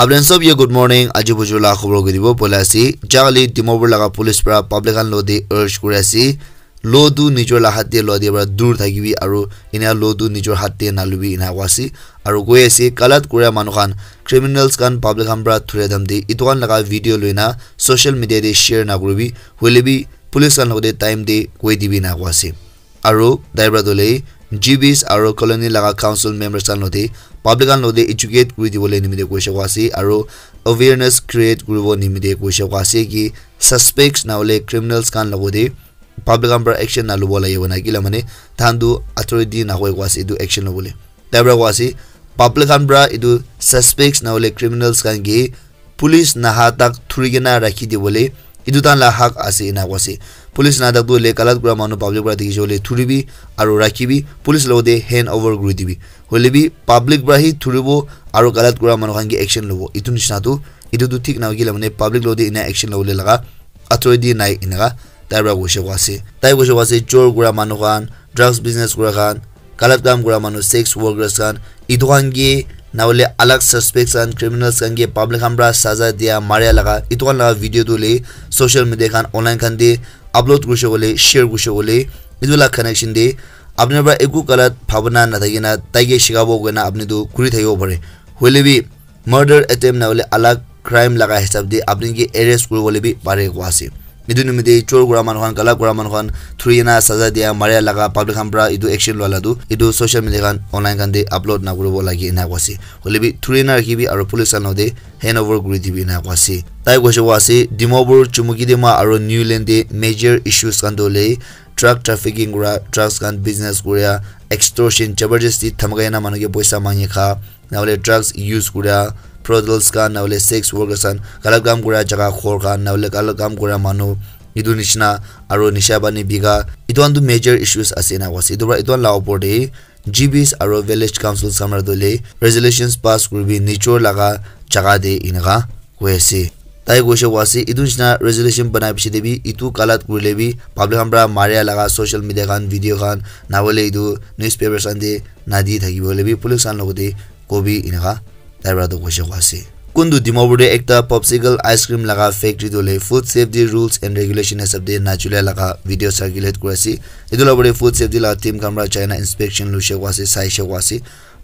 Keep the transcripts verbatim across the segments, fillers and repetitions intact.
Apni khan sob ke good morning. Aji bujur la khobor koi dibo bola ase. Jagale Dimapur laga police para public khan lo de urge kuri ase. Lo tu nijor la hat te lo de para dur thakibi aru ena lo tu nijor hat te nalubi ena koa ase. Aru koi ase kalat kura manu khan, criminals khan public khan para thura dam de itu khan laga video loina social media te share na kuribi. Hoile bi police khan lo de time te koi dibi ena koa ase. Aru tai para tu le G Bs aru colony laga council members khan lo de public khan lo de educate kuri dibole nimite koise koa ase aru awareness create kuribo nimite koise koa ase ki suspects na hole criminals khan lo de public khan para action na lobo lage koina kila mane tahan tu authority na hoi koa ase etu action lobole. Tai para koa ase public khan para etu suspects na hole criminals khan ke police naha tak thuri kena rakhi dibole etu tahan la hak ase ena koa ase. Police naha tak tu le kalat kura manu public para dikhi shole thuribi aru rakhibi police lo de hand over kuri dibi. Hoile bi public para hi thuribo aru kalat kura manu khan ke action lobo. Etu nishina tu etu tu thik na hoi kila mane public lo de ena action lobole laga authority nai enaka tai para koise koa ase. Tai koise koa ase chor kura manu khan, drugs business kura khan, kalat kam kura manu, sex workers khan, itu khan ke na hole alag suspects khan, criminals khan ke public khan para saza dia maria laga itu khan laga video tu le social media khan online khan de upload kurise kole share kurise kole itu la connection de apni para eku kalat bhabana na thaki na tai ke shikabo koina apni tu kuri thakibo pare. Hoile bi murder attempt na hole alag crime laga hisab de apni ke arrest kuribole bi pare koa ase. Etu nimite chor kura manu khan, kalat kura manu khan thuri kena saza dia maria laga public khan para etu action lua la tu etu social media khan online khan de upload na kuribo lage ena koa ase. Hoile bi thuri kena rakhibi aru police khan lo de hand over kuri dibi ena koa ase. Tai koise koa ase Dimapur, Chumukedima aru Niuland de major issues khan tu le drug trafficking kura, drugs khan business kura, extortion, jabardasti dhamaka kena manu ke poisa mangi kha, na hole drugs use kura, brothels khan, na hole sex workers khan, kalat kam kura jaga ghor khan, na hole kalat kam kura manu, etu nishina aru nisha pani bika, etu khan tu major issues ase ena koa ase. Etu para etu khan la opor de G Bs aru village councils khan para tu le resolutions pass kuribi nijor laga jaga de enaka koi ase. Tai koise koa ase etu nishina resolution banai piche de bi etu kalat kurile bi public khan para maria laga social media khan video khan na hole etu newspapers khan de na di thakibo hoile bi police khan lo de kobi enaka tai para tu koise koa ase. Kuntu Dimapur de ekta popsicle ice cream laga factory tu le food safety rules and regulation hisab de na chule laga video circulate kuri ase. Etu la opor de food safety laga team khan para jaina inspection luise koa ase, saise koa ase.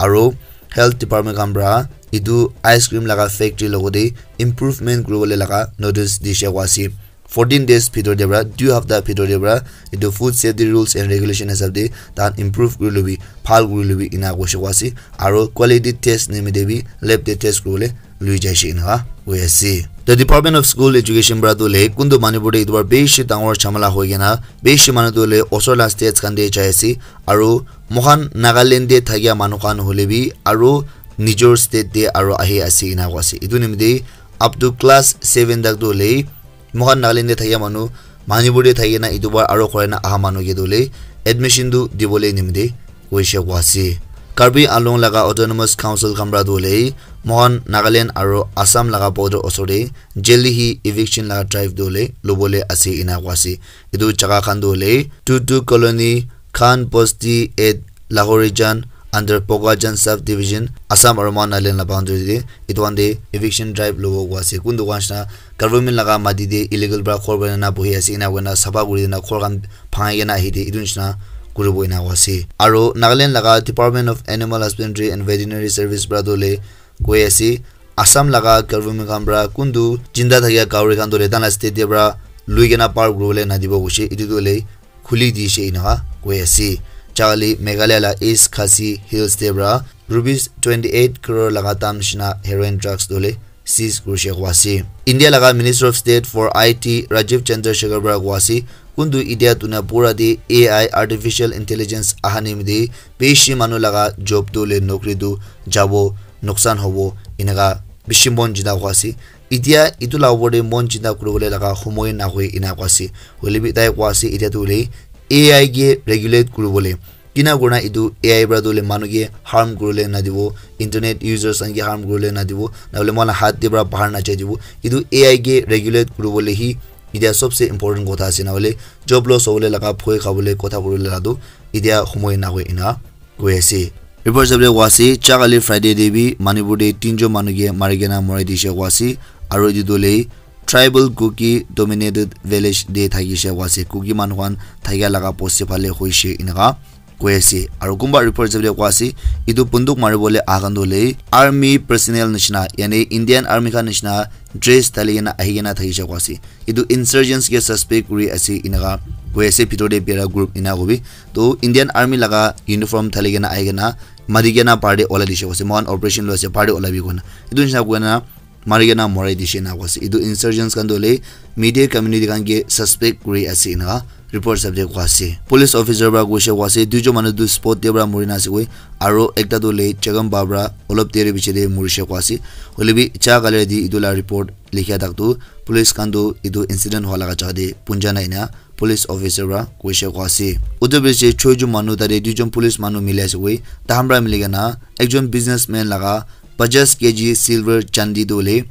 Aru health department khan para etu ice cream laga factory logo de improvement kuribole laga notice dise koa ase. Fourteen days bhitor de para, dui hapta bhitor de para etu food safety rules and regulation hisab de tahan improve kuri lobi, bhal kuri lobi ena koise koa ase. Aru quality test nimite bi lab de test kuribole lui jaise enaka koi ase. The Department of School Education para tu le kuntu Manipur de etu para bishi dangor jhamala hoi kena bishi manu tu le osor la states khan de jai ase. Aru moikhan Nagaland de thakia manu khan hole bi aru nijor state de aru ahi ase ena koa ase. Etu nimite up to class seven tak tu hole moikhan Nagaland de thakia manu Manipur de thaki na etu bar aru khurai na aha manu ke tu hole admission tu dibole nimite koise koa ase. Karbi Anglong laga autonomous council khan para tu hole moikhan Nagaland aru Assam laga border osor de jaldi hi eviction laga drive tu hole lobole ase ena koa ase. Etu jaga khan tu hole Tutu Colony, Khan Bosti at Lahorijan under Pokajan subdivision, Assam aru Nagaland la boundary de etu khan de eviction drive lobo koa ase. Kuntu koa nishina government laga mati de illegal para ghor banai na bohi ase ena koina sapha kuri dina ghor khan bhangai kena ahi de etu nishina kuribo ena koa ase. Aru Nagaland laga Department of Animal Husbandry and Veterinary Service para tu hole koi ase Assam laga government khan para kuntu jinda thakia gahori khan tu hole tahan la state de para lui kena par kuribole nadibo koise. Etu tu hole khuli dise enaka koi ase. Jagale Meghalaya la East Khasi Hills de para rupees twenty eight crore laga dam nishina heroin drugs tu hole seize kurise koa ase. India laga Minister of State for I T Rajiv Chandrasekhar para koa ase kuntu etia dunia pura de A I, artificial intelligence, aha nimite bishi manu laga job tu hole nokri tu jabo, nuksan hobo enaka bishi mon jida koa ase. Etia etu la opor de mon chinta kuribole laga homoi nahoi ena koa ase. Hoile bi tai koa ase etia tu hole A I ke regulate kuribole. Kina kurina etu A I para tu hole manu ke harm kuribole nadibo, internet users khan ke harm kuribole nadibo, na hole moikhan la hat de para bahar na jai dibo. Etu A I ke regulate kuribole hi etia sobse important kotha ase, na hole job loss hobole laga bhoi khabole kotha kuribole la tu etia homoi nahoi ena koi ase. Report sabde koa ase, cha kali Friday de bi Manipur de tinjon manu ke mari kena morai dishe koa ase, aro etu tu le tribal Kuki dominated village de thakishe koa ase, Kuki manu khan thakia laga bosti phale hoishe eneka koi ase. Aro kunba report sabde koa ase, etu bunduk mari bole aha khan tu le army personnel nishina, yani Indian army khan nishina dress thali kena ahi kena thakishe koa ase. Etu insurgents ke suspect kuri ase eneka koi ase, bhitor de bera group ena kobi. To Indian army laga uniform thali kena ahi kena mari kena bahar de olai dishe koa ase, moikhan operation loi ase, bahar de olai bi koina. Etu nishina koina mari kena morai dishe eneka koa ase. Etu insurgents khan tu le media community khan ke suspect kuri ase eneka report sabde koa ase. Police officer para koishe koa ase, duijon manu tu spot de para mori na ase koi, aro ekta tu le Chagam Babra olop deri piche de morishe koa ase. Hoile bi cha kali de etu la report likhia tak tu police khan tu etu incident hua laga jaga de punja nai na police officer para koishe koa ase. Utu biche choi jon manu tate duijon police manu mili ase koi, tahan para mili kena ekjon businessman laga pajas K G silver chandi tu le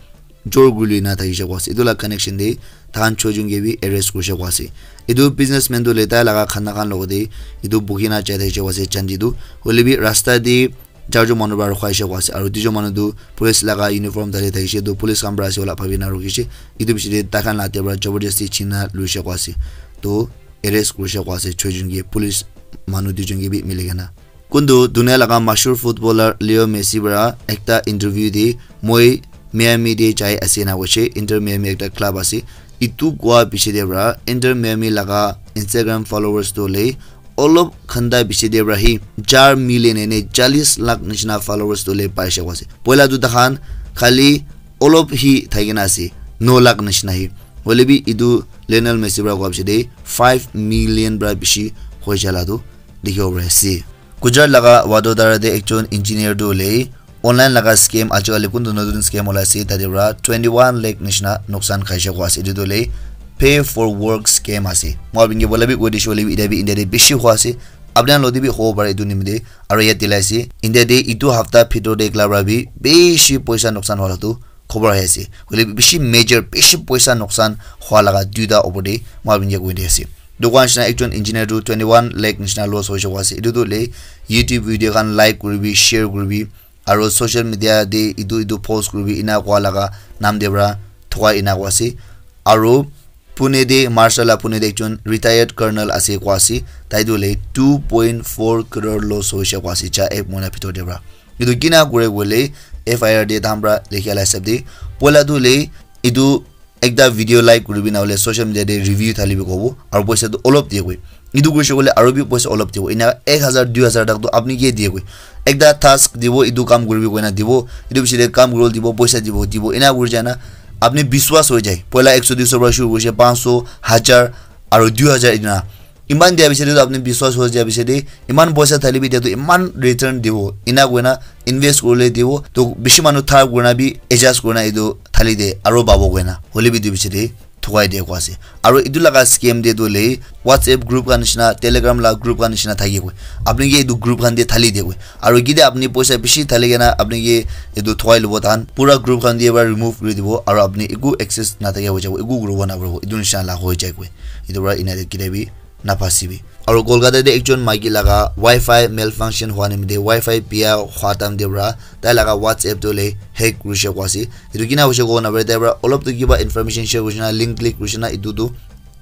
jor guli na thakishe koa ase. Etu la connection de tahan choi jon ke bi arrest kurishe koa ase. Etu businessman tu le tai laga khana khan logo de etu buhi na jai thakishe koa ase chandi tu. Hoile bi rasta de charjon manu para rukhaishe koa ase, aro duijon manu tu police laga uniform thali thakishe, tu police khan para ase wala bhabi na rukhishe. Etu piche de tai khan la ate para jabardasti china luishe koa ase, tu arrest kurishe koa ase choi jon ke, police manu duijon ke bi mili kena. Kuntu dunia laga mashhur footballer Leo Messi para ekta interview de moi Miami de jai ase na koishe, Inter Miami ekta club ase. Etu koa piche de para Inter Miami laga Instagram followers tu le olop khanda piche de para hi char million ene chalis lakh nishina followers tu le paishe koa ase. Poila tu tahan khali olop hi thakina ase, no lakh nishina hi. Hoile bi etu Lionel Messi para koa piche de five million para bishi hoi jala tu dikhibo pari ase. Gujarat laga Vadodara de ekjon engineer tu le online laga scam, ajikali kuntu notun scam ulai ase, tate para twenty one lakh nishina nuksan khaishe koa ase. Etu tu le pay for work scam ase. Moi apni ke bola bi koi dishe hoile bi, ita bi India de bishi hua ase. Apni khan loti bi hobo pare etu nimite. Aro yat dilai ase, India de etu hafta bhitor de ekla para bi bishi poisa nuksan hua la tu khobor ahi ase. Hoile bi bishi major, bishi poisa nuksan hua laga duita opor de moi apni ke koi di ase. Dukan nishina ekjon engineer tu twenty one lakh nishina loss hoishe koa ase. Etu tu le YouTube video khan like kuribi, share kuribi, aro social media de etu etu post kuribi ena koa laga nam de para thokai ena koa ase. Aro Pune de, Maharashtra la Pune de ekjon retired colonel ase koa ase, tai tu le two point four crore loss hoishe koa ase cha ek mohina bhitor de para. Etu kina kure koile F I R de tahan para likhia la hisab de, poila tu le etu ekta video like kuribi na hoile social media de review thali bi kobo, aro poisa tu olop diye koi. Etu kurishe koile aro bi poisa olop dibo. Ena ek hazar, dui hazar tak tu apni ke diye koi. Ekta task dibo, etu kam kuribi koina dibo. Etu piche de kam kuribole dibo, poisa dibo, dibo. Ena kuri jai na apni biswas hoi jai. Poila ekso, duiso para shuru kurishe, panch so, hajar, aro dui hajar etu na. Iman dia piche de tu apni biswas hoi jai piche de, iman poisa thali bi dia tu iman return dibo. Ena koina invest kurile dibo. To bishi manu thar kurina bi adjust kurina etu thali de aro pabo koina. Hoile bi etu piche de thokai dia koa ase. Aro etu laga scam de tu le WhatsApp group khan nishina, Telegram la group khan nishina thaki koi. Apni ke etu group khan de thali de koi. Aro kide apni poisa bishi thali kena apni ke etu thokai lobo tahan pura group khan de para remove kuri dibo. Aro apni eku access na thakia hoi jabo, eku kuribo na paribo. Etu nishina la hoi jai koi. Etu para ena de kide bi na phasi bi. Aro Kolkata de ekjon maiki laga Wi-Fi malfunction hua nimite, Wi-Fi bia hua time de para tai laga WhatsApp tu le hack kurishe koa ase. Etu kina hoishe kobo napare, tai para olop tu kiba information share kurishe na, link click kurishe na, etu tu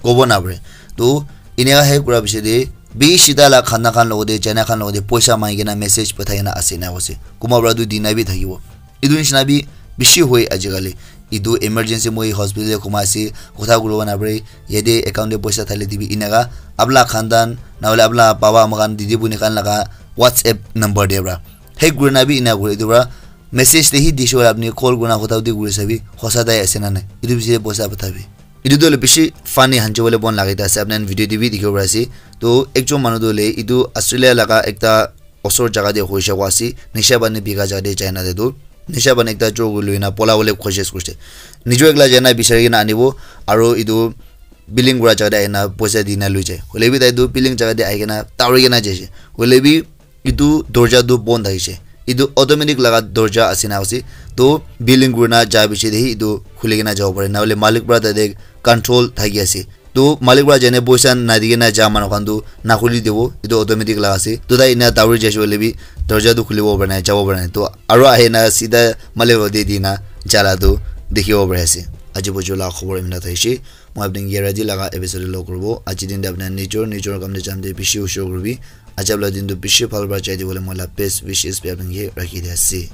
kobo napare. To eneka hack kura piche de bishi tai la khana khan logote, China khan logote poisa mangi kena message pathai kena ase ena koise. Kunba para tu dina bi thakibo. Etu nishina bi bishi hoi ajikali. Etu emergency moi hospital te khuma ase, kotha kuribo napare, yate account te poisa thali dibi eneka, apna khandan, nahole apna baba ama khan, didi buni khan laga WhatsApp number te para. Hack kurina bi ena kure, etu para message te hi dishe koile apni call kurina kotha hudi kuri sabi, hosa tai ase na nai. Etu bishi te poisa pathabi. Etu tu hoile bishi funny hanchi bole bon laga ekta ase, apni khan video te bi dikhibo pari ase. To ekjon manu tu hoile etu Australia laga ekta osor jaga te hoishe koa ase, nisha pani bika jaga te jaina te tu, nisha pani ekta chor kuri loina pola bole koshish kurise. Nijo ekla jaina bisari kena anibo, aro etu billing kura jaga te ahina poisa dina loi jai. Hoile bi tai tu billing jaga te ahi kena dauri kena jaise. Hoile bi etu dorja tu bon thakise. Etu automatic laga dorja ase na ase. To billing kurina ja piche te hi etu khuli kena jabo pare. Nahole malik para tate control thaki ase. Tu malik para jane poisa nadikena ja manu khan tu nakhuli dibo, etu automatic la ase. Tu tai ena dawri jaise koile bi dorja tu khulibo para nai, jabo para nai. Tu aro ahina sida malik para di dina jala tu dikhibo pari ase. Aji bojo la khobor imna thaishe. Moi apni ke yara di laga episode lo kuribo. Aji din de apna nijor nijor kam de jam de bishi ushur kuribi. Aji apna din tu bishi bhal para jai dibole moi la best wishes bi apni ke rakhi di ase.